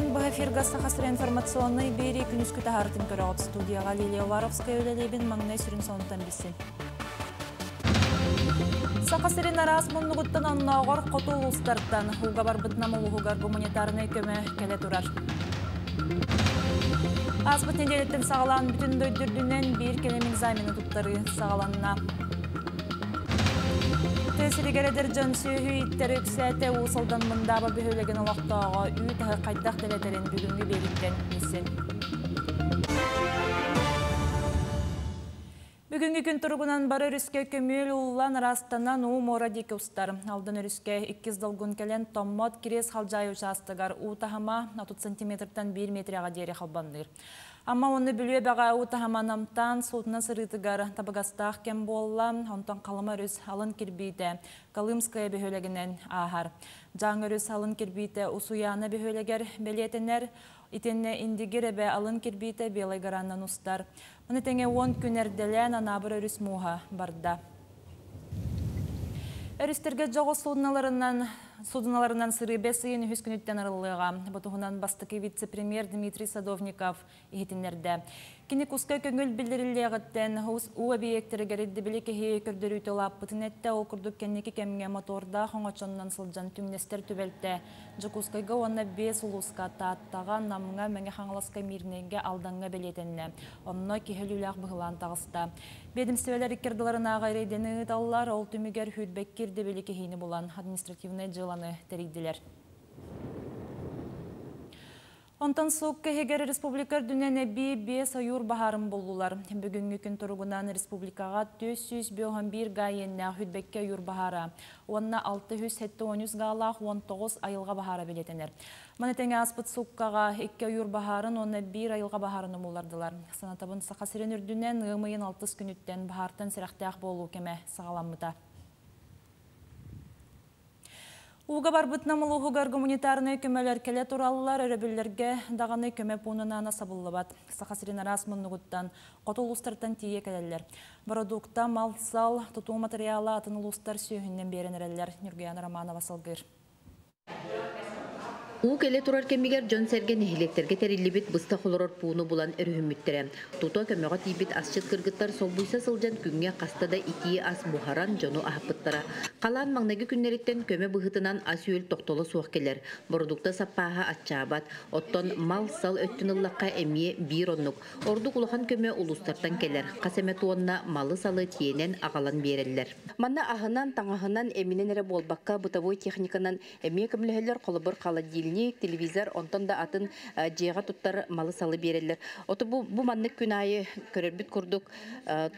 Күн быһа эфирга Саха сирэ информационнай биэрии күнүскү таһаарытын көрөҕүт. Студияҕа Лилия Уваровская үлэлиибин, маҥнай сүрүн сонунтан билсин. Саха сирин араас муннугуттан оннооҕор хоту улуустартан ууга барбыт Нам улууһугар гуманитарнай көмө кэлэ турар. Ааспыт нэдиэлэттэн саҕалаан бүтүн дойду үрдүнэн биир кэлим экзамены туттарыы саҕаланна. Тыа сиригэр эдэр дьон сүөһү ииттэрэ үксээтэ. Уус Алдан Мындааба бөһүөлэгин олохтооҕо үүт аһы хайдах дэлэтэрин бүгүҥҥү биэрииттэн билсин. Бүгүҥҥү күн туругунан бары өрүскэ көмүөл ууллан, ыраастанан уу муора диэки устар. Алдан өрүскэ иккис долгун кэлэн Томмот Кириэс Халдьаайы учаастагар уу таһыма 30 сантиметртан 1 метрэҕэ диэри халбанныыр. Амма уонна Бүлүү эбэҕэ уу таһыма намтаан, суутунан сырыытыгар табыгастаах кэм буолла. Онтон Халыма өрүс алын кирбиитэ Колымская бөһүөлэгинэн ааһар. Дьааҥы өрүс алын кирбиитэ Усуйаана бөһүөлэгэр бэлиэтэнэр. Итиннэ Индигир эбэ алын кирбиитэ Белай Гораннан устар. Ону тэҥэ 10 күн эрдэлээн Анаабыр өрүс мууһа барда. Өрүстэргэ дьоҕус судноларынан сырыы бэс ыйын үһүс күнүттэн арыллыаҕа. Бу туһунан бастакы вице-премьер Дмитрий Садовников иһитиннэрдэ. Кини куска көҥүл биллэриллиэҕиттэн уу эбийиэктэригэр ирдэбили киһи көрдөрүүтэ улааппытын эттэ. Ол курдук кэнники кэмҥэ мотордаах оҥочоннон сылдьан түҥнэстэр түбэлтэ Дьокуускайга уонна биэс улууска Тааттаҕа, Намҥа, Мэҥэ Хаҥаласка, Миирнэйгэ, Алдаҥҥа бэлиэтэннэ. Онно киһи өлүүлээх быһылаан таҕыста. Биэдэмистибэлэр икки ардыларынааҕы рейдэни ыыталлар, ол түмүгэр сүүрбэккэ ирдэбили кэһиини булан, административнай дьыаланы тэрийдилэр. Онтон суукка иһигэр республика үрдүнэн эбии биэс ойуур баһаарын буллулар. Бүгүҥҥү күн туругунан республикаҕа 451 га иэннээх Хүтбэккэ ойуур баһаара уонна 673 гаалаах 19 айылҕа баһаара бэлиэтэнэр. Маны тэҥэ ааспыт сууккаҕа икки ойуур баһаарын уонна биир айылҕа баһаарын умуллардылар. Санатабын, Саха сирин үрдүнэн ыам ыйын алтыс күнүттэн баһаартан сэрэхтээх буолуу кэмэ саҕаламмыта. Ууга барбыт Нам улууһугар гуманитарнай көмөлөр кэлэ тураллар, өрөбүллэргэ даҕаны көмө пуунун аана сабыллыбат. Саха сирин араас муннугуттан, хоту улуустартан тиийэ кэлэллэр. Бородуукта, мал-сал, тутуу матырыйаала атын улуустар сүөһүнэн биэрэн эрэллэр. Ньургуйаана Романова салгыыр. Уу кэлэ турар кэмигэр дьон-сэргэ нэһилиэктэргэ тэриллибит быстах олорор пууну булан өрүһүммүттэрэ. Тута көмөҕө тиийбит асчыт кыргыттар солбуйса сылдьан күҥҥэ хаста да итии ас буһаран дьону аһаппыттара. Халаан маҥнайгы күннэриттэн көмө быһыытынан ас-үөл тохтоло суох кэлэр. Бородуукта саппааһа аччаабат. Оттон мал-сал өттүн ыллахха эмиэ биир оннук. Ордук улахан көмө улуустартан кэлэр. Хас эмэ туонна малы-салы тиэнэн аҕалан биэрэллэр. Манна аһынан, таҥаһынан, эминэн эрэ буолбакка, бытовой техниканан эмиэ көмөлөһөллөр. Холобур, холодильник, телевизор, онтон да атын дьиэҕэ туттар малы-салы биэрэллэр. Ото бу маннык күн аайы көрөрбүт курдук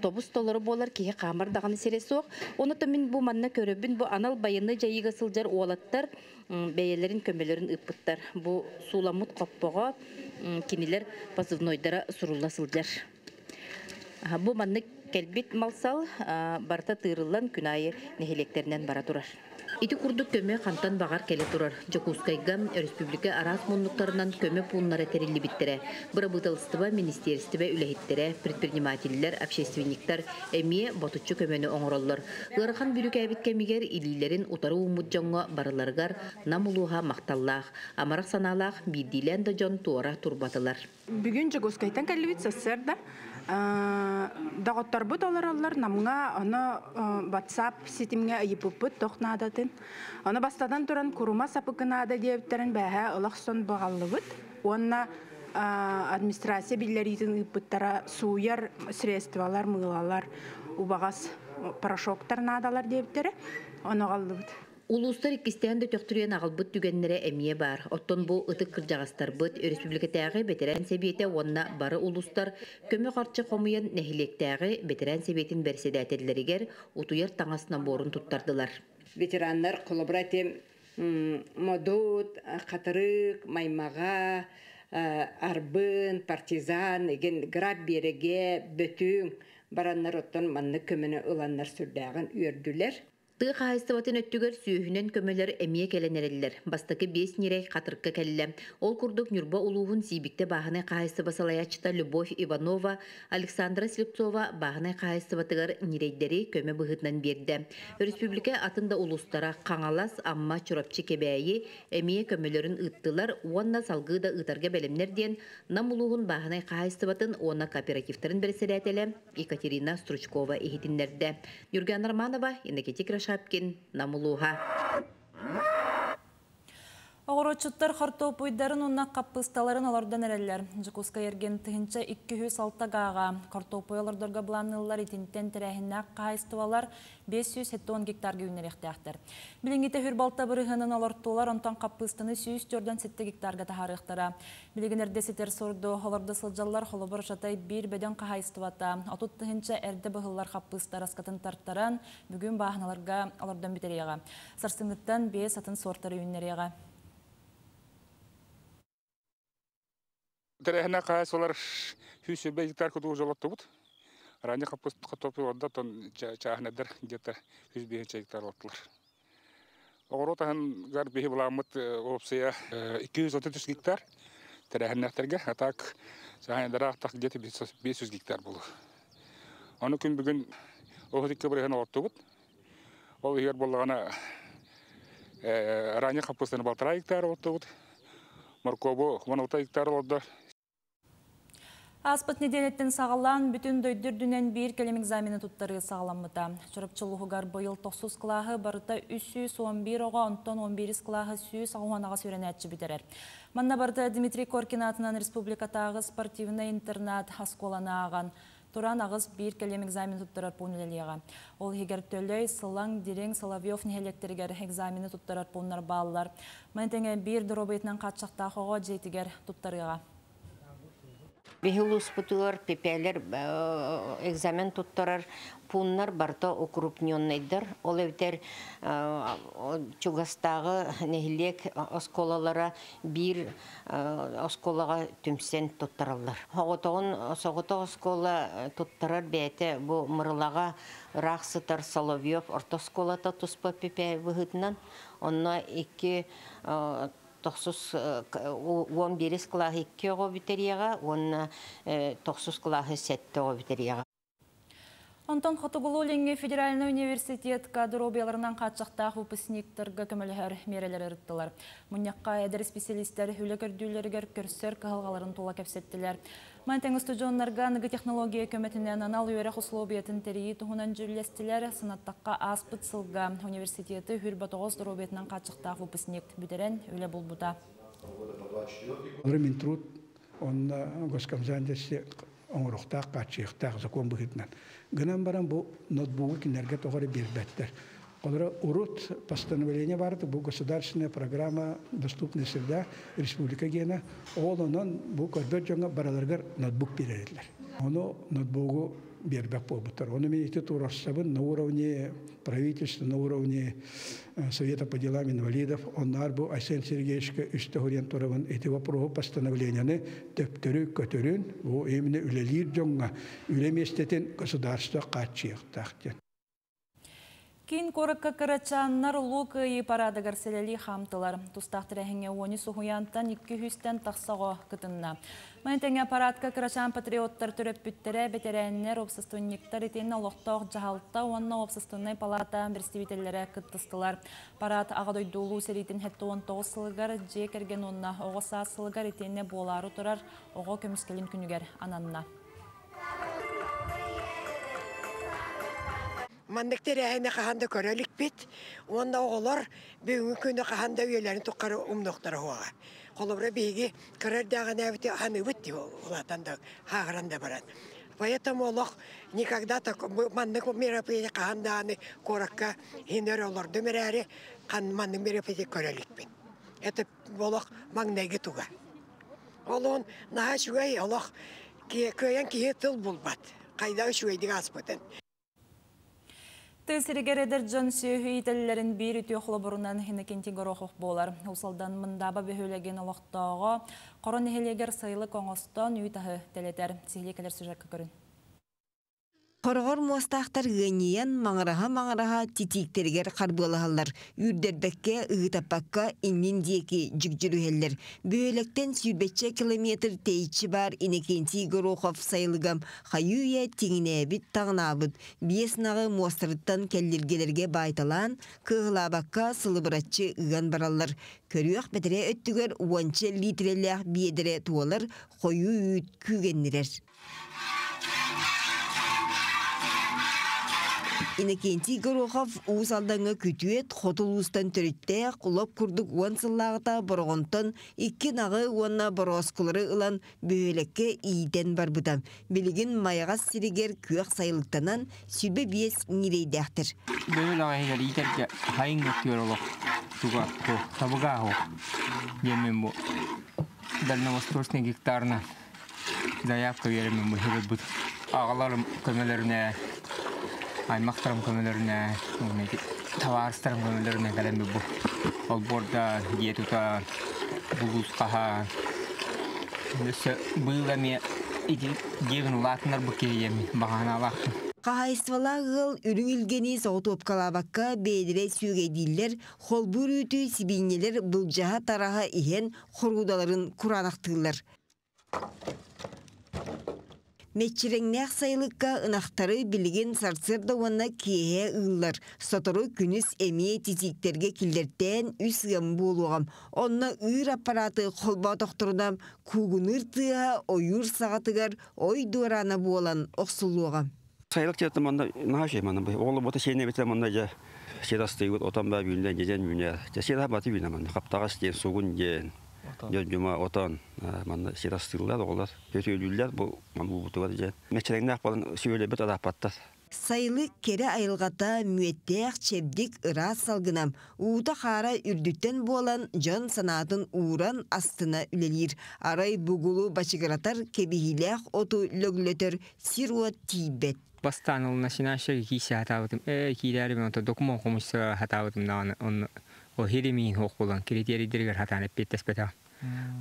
тобус толору буолар, киһи хаамар даҕаны сирэ суох. Ону мин бу манна көрөбүн, бу анал байыаннай дьайыыга сылдьар уолаттар бэйэлэрин көмөлөрүн ыыппыттар. Бу сууламмыт хоппоҕо кинилэр позывнойдара сурулла сылдьар. Бу маннык кэлбит малсал барыта тыырыллан күн аайы нэһилиэктэринэн бара турар. Ити курдук көмө хантан баҕар кэлэ турар. Дьокуускайга республика араас муннуктарынан көмө пууннара тэриллибиттэрэ. Бырабыыталыстыба, министиэристибэ үлэһиттэрэ, предпринимателлэр, общественниктар эмиэ ботуччу көмөнү оҥороллор. Ыарахан бүрүүкээбит кэмигэр илиилэрин утары ууммут дьоҥҥо барыларыгар Нам улууһа махталлаах. Амарах санаалаах биирдиилээн да дьон туора турбатылар. Бүгүн Дьокуускайтан кэллибит сарсыарда. Доҕотторбут олороллор Намҥа, ону WhatsApp ситимҥэ ыйыппыппыт туох наадатын. Ону бастатан туран курума сапыкы наада диэбиттэрин бээһээ олох сон баҕаллыбыт. Уонна администрация биллэриитин ыыппыттара сууйар средстволар, мыылалар, убаҕас порошоктар наадалар диэбиттэрэ. Ону аҕаллыбыт. Улуустар иккистээн да төхтүрүйэн аҕалбыт түгэннэрэ эмиэ баар. Оттон бу ытык кырдьаҕастарбыт, республикатааҕы бэтэрээн сэбиэтэ уонна бары улуустар көмө харчы хомуйан нэһилиэктээҕи бэтэрээн сэбиэтин бэрэссэдээтэллэригэр утуйар таҥас наборун туттардылар. Ветераннар холобура этим Модут, Хатырык, Маймаҕа, Арбын, Партизан, эгин Граб биэрэгэ, Бөтүҥ бараннар оттон маннык көмөнү ыланнар сүрдээҕин үөрдүлэр. Тыа хаһаайыстыбатын өттүгэр сүөһүнэн көмөлөр эмиэ кэлэн эрэллэр. Бастакы биэс ньирэй Хатырыкка кэллэ. Ол курдук Ньурба улууһун Сиибиктэ бааһынай хаһаайыстыба салайааччыта Любовь Иванова Александра Слепцова бааһынай хаһаайыстыбатыгар ньирэйдэри көмө быһыытынан биэрдэ. Өрөспүүбүлүкэ атын да улуустара Хаҥалас, Амма, Чурапчы, Кэбээйи эмиэ көмөлөрүн ыыттылар уонна салгыы да ыытарга бэлэмнэр диэн Нам улууһун бааһынай хаһаайыстыбатын уонна кооперативтарын бэрэссэдээтэлэ Екатерина Стручкова иһитиннэрдэ. Юргиана Романова, Иннокентий Кирашапкин, Нам улууһа. Оҕуруотчуттар хортуоппуйдарын уонна хаппыысталарын олордон эрэллэр. Дьокуускай эргин 1206 гааҕа хортуоппуй олордорго былаанныыллар итинтэн тэрээһиннээх хаһаайыстыбалар 570 гектарга үүннэриэхтээхтэр. Билиҥҥитэ үһүр балта бырыһыанын олортуулар, онтон хаппыыстаны 147 гектарга таһаарыахтара. Билигин эрдэ ситэр сурду олордо сылдьаллар, холобур Жатай биир бөдөҥ хаһаайыстыбата 30 тыһыынча эрдэ быһыллар хаппыыста араскатын тартаран, бүгүн бааһыналарга олордон бүтэриэҕэ. Сарсыҥҥыттан биэс атын суортары үүннэриэҕэ. Тэрээһинэ хаһаайыстыбалар 120 гектар кутуу жолоттубут. Ранее хаппыст хортуоппуй олордо, оттон чааһынайдар где-то 105 гектар олортулар. Оҕуруот аһыгар биһи былааммыт уопсайа 233 гектар тэрээһиннээхтэргэ, а так чааһынайдара так где-то 500 гектар буолуо. Ону күн бүгүн 32 бырыһыан олортубут. Ол иһигэр буоллаҕына ранее хаппыстаны 1,5 гектар олортубут. Моркуобу 16 гектар олордо. Ааспыт нэдиэлэттэн саҕалаан бүтүн дойду үрдүнэн биир кэлим экзамены туттарыы саҕаламмыта. Чурапчы улууһугар быйыл тохсус кылааһы барыта 311 оҕо, онтон 11 кылааһы 188 үөрэнээччи бүтэрэр. Манна барыта Дмитрий Коркин аатынан республикатааҕы спортивнай интернат оскуоланы ааҕан, туран аҕыс биир кэлим экзамен туттарар пуун үлэлиэҕэ. Ол иһигэр Төлөй, Сылаҥ, Дириҥ, Соловьев нэһилиэктэригэр экзамены туттарар пууннар бааллар. Маны тэҥэ биир доруобуйатынан хааччахтаах оҕо дьиэтигэр туттарыаҕа. Биһи улууспутугар ППЛэр экзамен туттарар пууннар барыта укрупненныйдар. Ол эбэтэр чугастааҕы нэһилиэк оскуолалара биир оскуолаҕа түмсэн туттараллар. Соҕотоҕун соҕотох оскуола туттарар бэйэтэ бу Мырылаҕа ыраах сытар Соловьев орто оскуолата туспа ПП быһыытынан. Онно икки тохсус 11 кылааһы икки оҕо бүтэриэҕэ уонна тохсус кылааһы сэттэ оҕо бүтэриэҕэ. Онтон Хотугулуу-Илиҥҥи федеральнай университетка доруобуйаларынан хааччахтаах выпускниктарга көмөлөһөр миэрэлэри ырыттылар. Мунньахха эдэр специалистэр үлэ көрдүүллэригэр көрсөр кыһалҕаларын тула кэпсэттилэр. Маны тэҥэ устудьуоннарга аныгы технология көмөтүнэн анал үөрэх условиятын тэрийии туһунан дьүүллэстилэр. Санаттахха, ааспыт сылга университеты 29 доруобуйатынан хааччахтаах выпускник бүтэрэн үлэ булбута. Минтруд онно госкомзанности оҥоруохтаах, хааччыйыахтаах закон быһыытынан. Гынан баран бу ноутбугу кинилэргэ тоҕо эрэ биэрбэттэр. Олоро урут постановление бар, бу государственная программа «Доступная среда» республика гена, ол онон бу көрбөт дьоҥҥо бараларыгар ноутбук биэрэллэр. Ону ноутбугу биэрбэт буолбуттар. Ону мин ити туруорсабын на уровне правительства, на уровне Совета по делам инвалидов. Оннаар бу Айсен Сергеевичка үстэ суруйан турабын ити вопроһу постановлениены төптөрү көтөрүн, бу именно үлэлиир дьоҥҥо үлэ миэстэтин государство хааччыйыахтаах диэн. Киин куоракка кырачааннар Улуу Кыайыы парадыгар сэлэлии хаамтылар. Тустаах тэрээһиҥҥэ 13 уһуйаантан 200-тэн тахса оҕо кытынна. Маны тэҥэ парадка кырачаан патриоттар төрөппүттэрэ, бэтэрээннэр, уопсастыбанньыктар итиэннэ олохтоох дьаһалта уонна уопсастыбаннай палата представителлэрэ кыттыстылар. Парад Аҕа дойду Улуу сэриитин 79 сылыгар, дьиэ кэргэн уонна оҕо саас сылыгар итиэннэ буолаары турар оҕо көмүскэлин күнүгэр ананна. Маннык тэрээһини хаһан да көрө иликпит. Уонна оҕолор бүгүҥҥү күнү хаһан да үйэлэрин тухары умнуохтара суоҕа. Холобура, биһиги кыра эрдэҕинээбити аныыбыт дии улаатан да, хааһыран да баран. Поэтому олох никогда так маннык мероприятие хаһан даҕаны куоракка иһин олордум эрээри, маннык мероприятие көрө иликпин. Это олох маҥнайгы туга. Олон наһаа үчүгэй олох кыайан киһи тыл булбат. Хайда үчүгэйдик ааспытын. Тыа сиригэр эдэр дьон сүөһү иитэллэрин биир үтүө холобурунан Иннокентий Горохов буолар. Уус Алдан Мындаба бөһүөлэгин олохтооҕо Хоро нэһилиэгэр сайылык оҥостон үүт аһы дэлэтэр. Сиһилии кэлэр сюжекка көрүн. Хороҕор муостаахтар ыанньыйан маҥыраһа-маҥыраһа титииктэригэр харбыалаһаллар, үүрдэрбэккэ, ыһыытаппакка иннин диэки дьүгдьүрүһэллэр. Бөһүөлэктэн сүүрбэччэ километр тэйиччи баар Иннокентий Горохов сайылыгам хайыы-үйэ тиҥинээбит, таҕынаабыт, биэс ынаҕы муостарыттан кэллиргэлэргэ баайталаан, кыаһылаабакка сылыбыраччы ыган бараллар. Көрүөх бэтэрээ өттүгэр уонча литрэлээх биэдэрэ туолар хойуу үүт күүгэннирэр. Иннокентий Горохов Уус Алдаҥҥа күтүөт, хоту улуустан төрүттээх, лоп курдук уон сыллааҕыта Бороҕонтон икки ынаҕы уонна борооскулары ылан бөһүөлэккэ иитэн барбыта. Билигин Майаҕас сиригэр күөх сайылыктанан 25 ньирэйдээхтэр. Бөһүөлэк иһигэр иитэргэ хайыҥ өттүгэр олох туга табыгааһу диэммин бу дальневосточный гектарынан заявка биэрэммин быһыыларбыт аҕаларым көмөлөрүнэ аймахтарым көмөлөрүнэ табаарыстарым көмөлөрүнэ кэлэн бу олбуорда дьиэ тута булуус хаһа өссө быыл эмиэ ити дьиэбин улаатыннарбыт киһи диэммин баҕанаалаахпын. Хаһаайыстыбалаах ыал үрүҥ илгэни соҕотуопкалаабакка бэйэлэрэ сүөгэйдииллэр, холбуур үүтү сибиинньэлэр былдьаһа-тараһа иһэн хоруудаларын кураанахтыыллар. Мэччирэҥнээх сайылыкка ынахтары билигин сарсыарда уонна киэһэ ыыллар. Сотору күнүс эмиэ титииктэргэ киллэртээн үс ыам буолуоҕа. Онно ыыр аппараты холботохторуна куугунуур тыаһа ойуур саҕатыгар ой дуораана буолан охсуллуоҕа. Сайылык дьиэтэ манна наһаа үчүгэй манна. Оҕолор бота сиэнэ эбитэ манна дьэ сир астыыбыт, отон баа үүннэ, дьэдьэн үүнэр. Дьэ сир баты үүнэ манна. Хаптаҕас диэн, сугун диэн, дьон отон манна сир астыыллар оҕолор. Көтүөлүүллэр бу буубутугар дьэ. Мэччирэҥнээх буолан сүөлэбит арааппаттар. Сайылык кэрэ айылҕата мүөттээх, чэбдик, ыраас салгына, уута-хаара үрдүттэн буолан, дьон санаатын ууран астына үлэлиир. Арай бугулу бачыгыратар кэбиһиилээх оту лөглөтөр сир-уот тиийбэт. Бастаан ол начинающая кииси хатаабытым. Ээ киирээри мен документ хомуйса хатаабытым даҕаны онно о хиримиин хуох буолан критерийдэригэр хатаан эппиэттэспэтэх.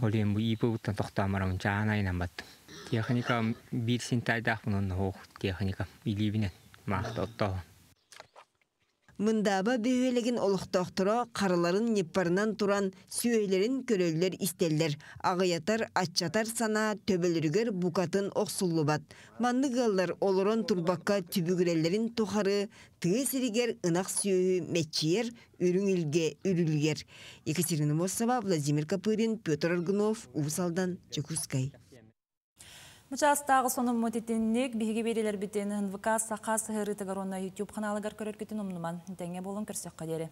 Ол иһин бу ИП-буттан тохтоон барамын чааһын айынан баттым. Техника биир синтайдаахпын онно хуох техника илиибинэн маахта оттооһун. Мындааба бөһүөлэгин олохтоохторо харыларын ньыппарынан туран сүөһүлэрин көрөллөр-истэллэр, аҕыйатар, аччатар санаа төбөлөрүгэр букатын охсуллубат. Маннык ыаллар олорон турбакка түбүгүрэллэрин тухары тыа сиригэр ынах сүөһү мэччийэр, үрүҥ илгэ үрүлүйэр. Екатерина Мосова, Владимир Копырин, Петр Аргунов, Уус Алдан, Дьокуускай. Бу сонуммут итинник биһиги биэриилэрбитин НВК Саха сыһыарыытыгар уонна YouTube ханаалыгар көрөргүтүн умнуман. Тэҥҥэ буолун көрсөххө диэри.